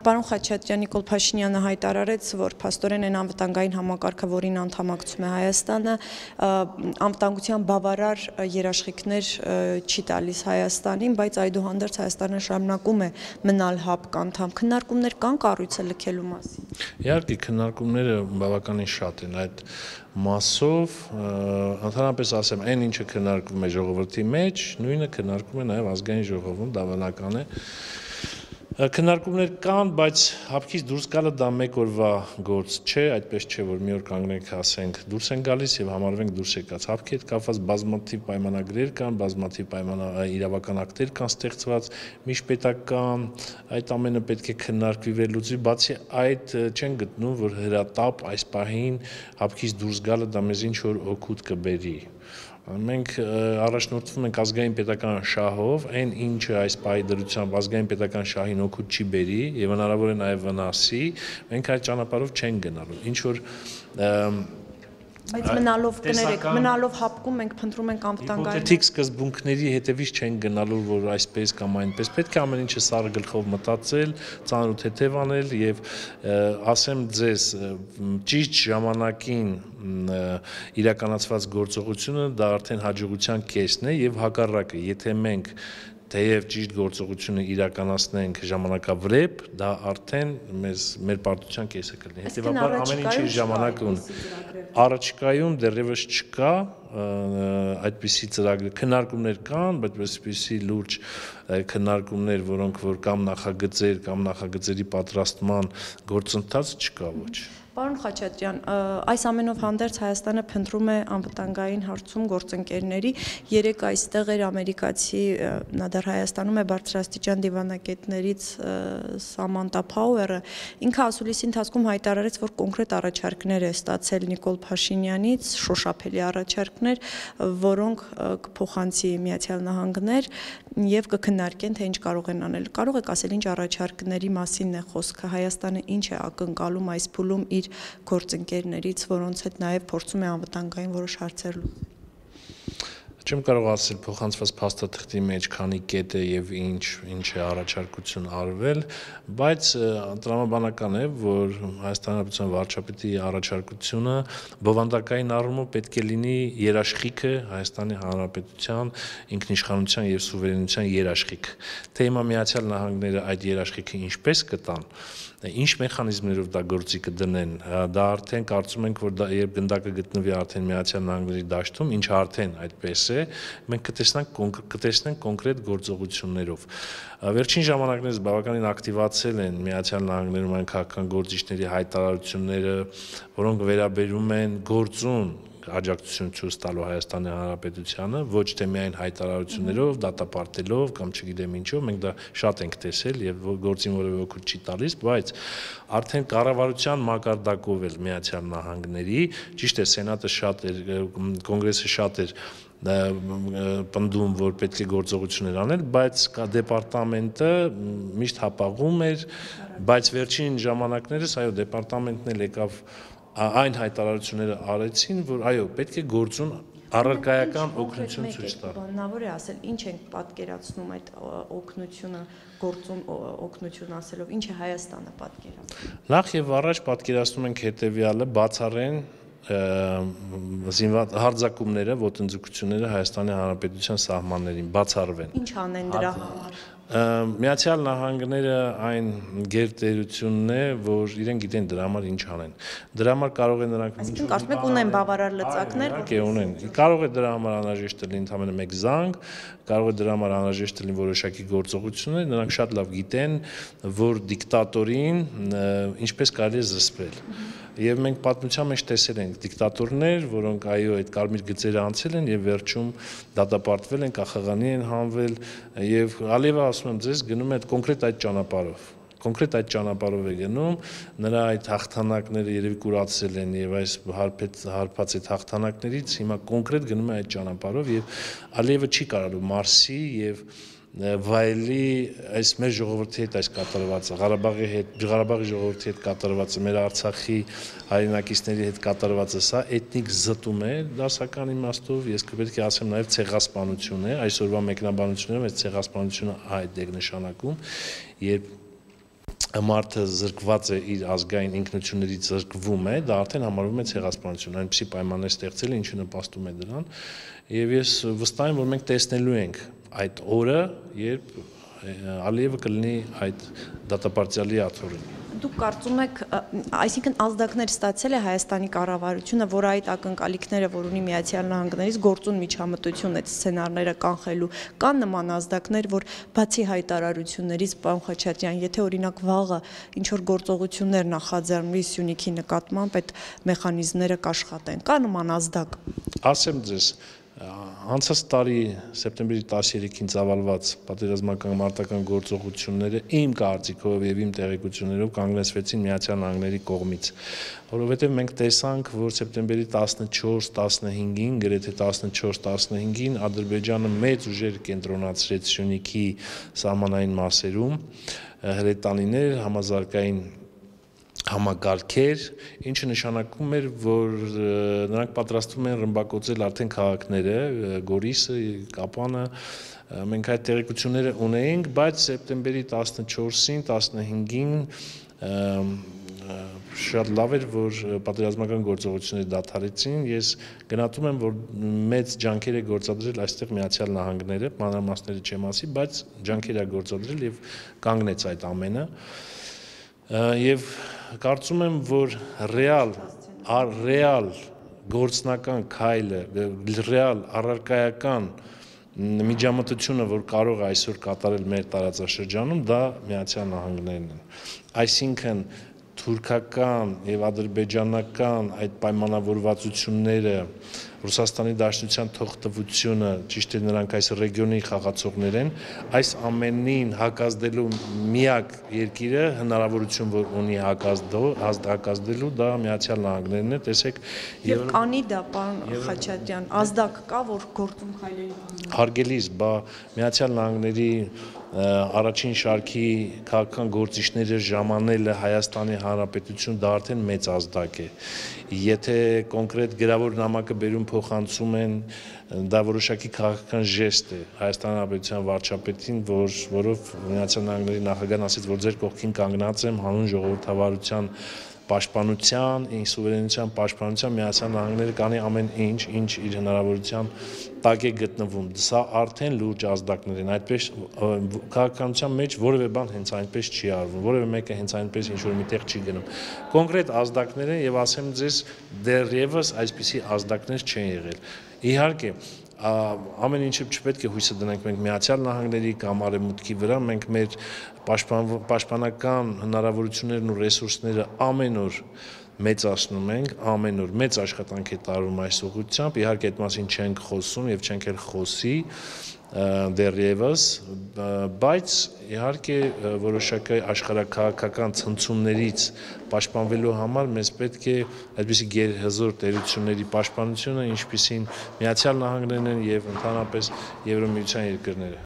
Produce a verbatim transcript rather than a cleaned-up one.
Պարոն Խաչատրյան, Նիկոլ Փաշինյանը հայտարարեց, որ փաստորեն այն անվտանգային համակարգը, որին անդամակցում է Հայաստանը, անվտանգության բավարար երաշխիքներ չի տալիս Հայաստանին, բայց այդուհանդերձ Հայաստանը շարունակում է մնալ ՀԱՊԿ անդամ։ Քննարկումներ կան կառույցը լքելու մասին։ Իհարկե, քննարկումները բավականին շատ են այդ մասով, ընդհանրապես ասեմ, այն ինչը քննարկվում է ժողովրդի մեջ, նույնը քննարկվում է նաև ազգային ժողովում, դա բնական է։ Քննարկումներ կան, բայց ՀԱՊԿ-ից դուրս գալը դա մեկ օրվա գործ չէ, այդպես չէ, որ մի օր կանգնենք, ասենք, դուրս են գալիս եւ համարվենք դուրս եկած։ ՀԱՊԿ-ի հետ կապված բազմաթիվ պայմանագրեր կան, բազմաթիվ իրավական ակտեր կան ստեղծված, միջպետական, այդ ամենը պետք է քննարկվի վերլուծվի, բացի այդ չեն գտնում, որ հրատապ այս պահին ՀԱՊԿ-ից դուրս գալը դա մեզ ինչ որ օգուտ կբերի։ Մենք առաջնորդվում ենք ազգային պետական շահով, այն ինչը այս պահի դրությամբ ազգային պետական շահին օգուտ չի բերի եւ հնարավոր է նաեւ վնասի, մենք այդ ճանապարհով չենք գնալու։ Ինչ որ Բայց մնալով կներեք, մնալով ՀԱՊԿ-ում մենք փնտրում ենք անվտանգային։ Հիպոթետիկ սկզբունքների հետևից չենք գնալու, որ այսպես կամ այնպես։ Պետք է ամեն ինչը սառը գլխով մտածել, ծանր ու թեթև անել եւ ասեմ ձեզ, ճիշտ ժամանակին իրականացված գործողությունը դա արդեն հաջողության կեսն է եւ հակառակը, եթե մենք թեև ճիշտ գործողությունը իրականացնենք ժամանակավրեպ, դա արդեն մեզ մեր պարտության կեսը կլինի։ Հետևաբար ամեն ինչի ժամանակ ունի։ Առաջիկայում դեռևս չկա այդպիսի ծրագրեր, քննարկումներ կան, բայց այսպիսի լուրջ քննարկումներ, որոնք որ կամ նախագծեր կամ նախագծերի պատրաստման գործընթաց չկա ոչ։ Պարոն Խաչատրյան, այս ամենով հանդերձ Հայաստանը փնտրում է անվտանգային հարցում գործընկերների, երեք այստեղ էր ամերիկացի, նա դեռ Հայաստանում է բարձրաստիճան դիվանագետներից Սամանտա Փաուերը, ինքը ասուլիսի ընթացքում հայտարարեց, որ կոնկրետ առաջարկներ է ստացել Նիկոլ Փաշինյանից, շոշափելի առաջարկներ, որոնք կփոխանցի Միացյալ Նահանգներ եւ կքննարկեն, թե ինչ կարող են անել։ Կարող եք ասել, ինչ առաջարկների մասին է խոսքը, Հայաստանը ինչ է ակնկալում այս փուլում իր գործընկերներից, որոնց հետ նաև փորձում է անվտանգային որոշ հարցեր լուծել։ Չեմ կարող ասել փոխանցված փաստաթղթի մեջ քանի կետ է եւ ինչ ինչ է առաջարկություն արվել, բայց տրամաբանական է, որ Հայաստանի Հանրապետության վարչապետի առաջարկությունը բովանդակային առումով պետք է լինի երաշխիքը Հայաստանի Հանրապետության ինքնիշխանության եւ սուվերենության երաշխիք։ Թե հիմա Միացյալ Նահանգները այդ երաշխիքը ինչպես կտան, ինչ մեխանիզմներով դա գործի կդնեն, դա արդեն կարծում ենք, որ դա երբ գնդակը գտնվի արդեն Միացյալ Նահանգների դաշտում, ինչը արդեն այդպես է, մենք կտեսնենք կտեսնենք կոնկրետ գործողություններով։ Վերջին ժամանակներս բավականին ակտիվացել են Միացյալ Նահանգներում այն քաղաքական գործիչների հայտարարությունները, որոնք վերաբերում են գործուն աջակցություն ցույց տալու Հայաստանի Հանրապետությանը, ոչ թե միայն հայտարարություններով, դատապարտելով կամ չգիտեմ ինչով, մենք դա շատ ենք տեսել եւ գործին որևէ օգուտ չի տալիս, բայց արդեն կառավարության մակարդակով էլ Միացյալ Նահանգների, ճիշտ է, Սենատը շատ էր, Կոնգրեսը շատ էր պնդում, որ պետք է գործողություններ անել, բայց դեպարտամենտը միշտ հապաղում էր, բայց վերջին ժամանակներս այո, դեպարտամենտն էլ եկավ այն հայտարարությունները արեցին, որ այո, պետք է գործուն առարկայական օգնություն ցույց տալ։ Բանավոր է ասել, ինչ ենք պատկերացնում այդ օգնությունը, գործուն օգնություն ասելով, ինչ է Հայաստանը պատկերացնում։ Նախ եւ առաջ պատկերացնում ենք հետեւյալը, բացառեն զինված հարձակումները, ոտնձգությունները Հայաստանի Հանրապետության սահմաններին բացառվեն։ Ինչ անեն դրա համար։ Միացյալ Նահանգները այն գերտերությունն է, որ իրենք գիտեն դրա համար ինչ անեն։ Դրա համար կարող է նրանք Այսինքն կարծում եք ունեն բավարար լծակներ, որ ունեն։ Կարող է դրա համար անհրաժեշտ լինի ընդհանրապես մեկ զանգ, կարող է դրա համար անհրաժեշտ լինի որոշակի գործողություններ, նրանք շատ լավ գիտեն, որ դիկտատորին ինչպես կարելի է զսպել։ Եվ մենք պատմության մեջ տեսել ենք դիկտատորներ, որոնք այո այդ կարմիր գծերը անցել են եւ վերջում դատապարտվել են, կախաղանի են հանվել եւ Ալիևը ասում եմ ձեզ գնում է այդ կոնկրետ այդ ճանապարհով։ Կոնկրետ այդ ճանապարհով է գնում, նրա այդ հաղթանակները երևի կուրացել են եւ այս հարբած այդ հաղթանակներից հիմա կոնկրետ գնում է այդ ճանապարհով եւ Ալիևը չի կարողանում Մարսի եւ վայելի այս մեր ժողովրդի հետ այս կատարվածը, Ղարաբաղի հետ, Ղարաբաղի ժողովրդի հետ կատարվածը, մեր Արցախի հայրենակիցների հետ կատարվածը, սա էթնիկ զտում է դասական իմաստով, ես կպետք է ասեմ նաև ցեղասպանություն է, այսօրվա մեկնաբանություններում այս ցեղասպանությունը այդ է նշանակում, երբ մարդը զրկված է իր ազգային ինքնություններից զրկվում է, դա արդեն համարվում է ցեղասպանություն, այնպիսի պայմաններ ստեղծել, ինչը նպաստում է դրան, եւ ես վստահ եմ, որ մենք տեսնելու ենք այդ օրը, երբ Ալիևը կլինի այդ դատապարտյալի աթոռին։ Դուք կարծում եք, այսինքն ազդակներ ստացել է Հայաստանի կառավարությունը, որ այդ ակնկալիքները, որ ունի Միացյալ Նահանգներից գործուն միջամտություն այդ սցենարները կանխելու, կան նման ազդակներ, որ բացի հայտարարություններից, պարոն Խաչատրյան, եթե օրինակ վաղը ինչ որ գործողություններ նախաձեռնվի Սյունիքի նկատմամբ, այդ մեխանիզմները կաշխատեն, կա նման ազդակ։ Ասեմ ձեզ, անցած տարի սեպտեմբերի տասներեքին ծավալված պատերազմական մարտական գործողությունները իմ կարծիքով եւ իմ տեղեկություններով կանգնեցվեցին Միացյալ Նահանգների կողմից, որովհետեւ մենք տեսանք, որ սեպտեմբերի տասնչորս տասնհինգին, գրեթե տասնչորս տասնհինգին Ադրբեջանը մեծ ուժեր կենտրոնացրեց Սյունիքի սահմանային մասերում, հրետանիներ, համազարգային համակարգեր, ինչը նշանակում էր, որ նրանք պատրաստվում են ռմբակոծել արդեն քաղաքները, Գորիսը, Կապանը, մենք այդ տեղեկությունները ունեինք, բայց սեպտեմբերի տասնչորսին, տասնհինգին շատ լավ էր, որ պատերազմական գործողությունները դադարեցին, ես գնահատում եմ, որ մեծ ջանքեր է գործադրել այստեղ Միացյալ Նահանգները, մանրամասները չեմ ասի, բայց ջանքեր է գործադրել եւ կանգնեց այդ ամենը, եւ կարծում եմ, որ ռեալ, ռեալ գործնական քայլը, ռեալ առարկայական միջամտությունը, որ կարող է այսօր կատարել մեր տարածաշրջանում, դա Միացյալ Նահանգներն են։ Այսինքն թուրքական եւ ադրբեջանական այդ պայմանավորվածությունները, Ռուսաստանի Դաշնության թողտվությունը, ճիշտ է նրանք այս ռեգիոնի խաղացողներ են, այս ամենին հակազդելու միակ երկիրը հնարավորություն որ ունի հակազդելու, դա Միացյալ Նահանգներն է, տեսեք, եւ կանի դա, պարոն Խաչատրյան, ազդակ կա, որ գործում քայլերի։ Հարգելիս, բա Միացյալ Նահանգների առաջին շարքի քաղաքական գործիչները ժամանելը Հայաստանի Հանրապետություն դա արդեն մեծ ազդակ է։ Եթե կոնկրետ գրավոր նամակը բերում փոխանցում են, դա որոշակի քաղաքական ժեստ է Հայաստանի Հանրապետության վարչապետին, որ որով Միացյալ Նահանգների նախագահն ասեց, որ ձեր կողքին կանգնած եմ հանուն ժողովրդավարության պաշտպանության, սուվերենության պաշտպանության Միացյալ Նահանգները կանի ամեն ինչ, ինչ իր հնարավորության տակ է գտնվում։ Սա արդեն լուրջ ազդակներ են, այդպես քաղաքականության մեջ որևէ բան հենց այնպես չի արվում, որևէ մեկը հենց այնպես ինչ-որ միտեղ չի գնում։ Կոնկրետ ազդակներ են եւ ասեմ ձեզ, դեռևս այսպիսի ազդակներ չեն եղել։ Իհարկե, ամեն ինչը չպետք է հույսը դնենք մենք Միացյալ Նահանգների կամ Արևմուտքի վրա, մենք մեր պաշտպանական հնարավորություններն ու ռեսուրսները ամեն օր մեծացնում ենք, ամեն օր մեծ աշխատանք է տարվում այս ուղղությամբ, իհարկե այդ մասին չենք խոսում եւ չենք էլ խոսի դեռևս, բայց իհարկե որոշակի աշխարհաքաղաքական ցնցումներից պաշտպանվելու համար մեզ պետք է այդպիսի գերհզոր տերությունների պաշտպանությունը, ինչպիսին Միացյալ Նահանգներն են եւ ընդհանրապես Եվրամիության երկրները։